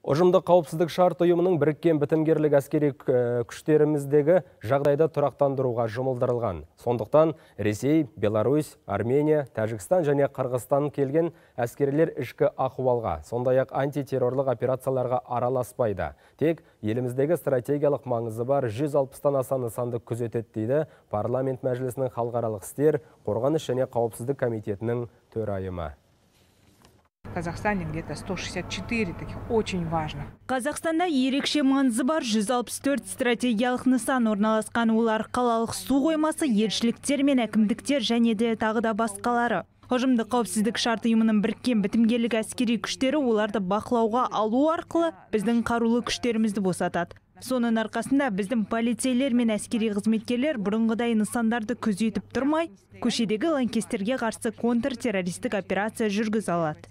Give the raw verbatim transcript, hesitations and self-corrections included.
Ұжымдық қауіпсіздік шарт ұйымының біріккен бітімгерлік әскери күштеріміздегі жағдайды тұрақтандыруға жұмылдырылған. Сондықтан Ресей, Беларусь, Армения, Тәжікстан және Қырғызстан келген әскерлер ішкі ахуалға, сондай-ақ антитеррорлық операцияларға араласпайды. Тек еліміздегі стратегиялық маңызы бар жүз алпыстан аса нысанды күзетеді дейді парламент мәжілісінің халықаралық істер, қорғаныс және қауіпсіздік комитетінің төрайымы. В Казахстане где-то сто шестьдесят четыре таких очень важно. Қазақстанда ерекше маңызы бар жүз алпыс төрт стратегиялық нысан орналасқан, олар қалалық су қоймасы, елшіліктер мен әкімдіктер және де тағы да басқалары. Ұжымдық қауіпсіздік шарт ұйымының біріккен бітімгерлік әскери күштері оларды бақылауға алу арқылы біздің қарулы күштерімізді босатады. Соның арқасында біздің полицейлер мен әскери қызметкерлер бұрынғыдай нысандарды күзетіп тұрмай, көшедегі лаңкестерге қарсы контртеррористік операция жүргізе алады.